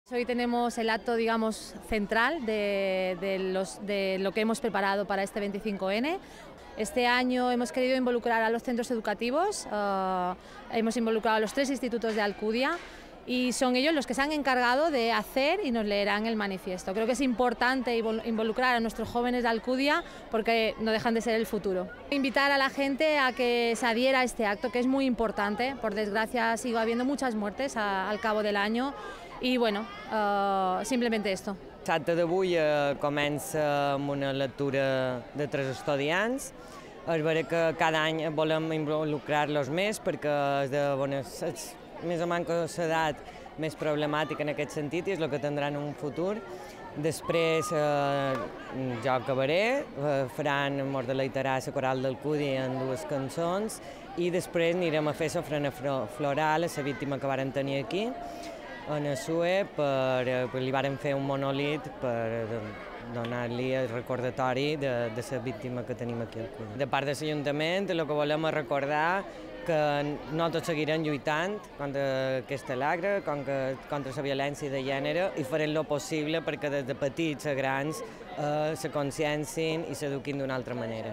Hoy tenemos el acto, digamos, central de lo que hemos preparado para este 25N. Este año hemos querido involucrar a los centros educativos, hemos involucrado a los 3 institutos de Alcudia y son ellos los que se han encargado de hacer y nos leerán el manifiesto. Creo que es importante involucrar a nuestros jóvenes de Alcudia porque no dejan de ser el futuro. Invitar a la gente a que se adhiera a este acto, que es muy importante. Por desgracia sigue habiendo muchas muertes al cabo del año i bueno, simplement esto. L'acte d'avui comença amb una lectura de 3 estudiants. És vera que cada any volem involucrar-los més perquè és més o menys l'edat més problemàtica en aquest sentit i és el que tindran en un futur. Després jo acabaré, faran Mos deleitarà la coral d'Alcúdia en 2 cançons i després anirem a fer l'ofrena floral a la víctima que varen tenir aquí en el SUE, li varen fer un monolit per donar-li el recordatori de la víctima que tenim aquí al Cudi. De part de l'Ajuntament, el que volem és recordar que nosaltres seguirem lluitant contra aquesta lacra, contra la violència de gènere i farem el possible perquè des de petits a grans se consciencin i s'eduquin d'una altra manera.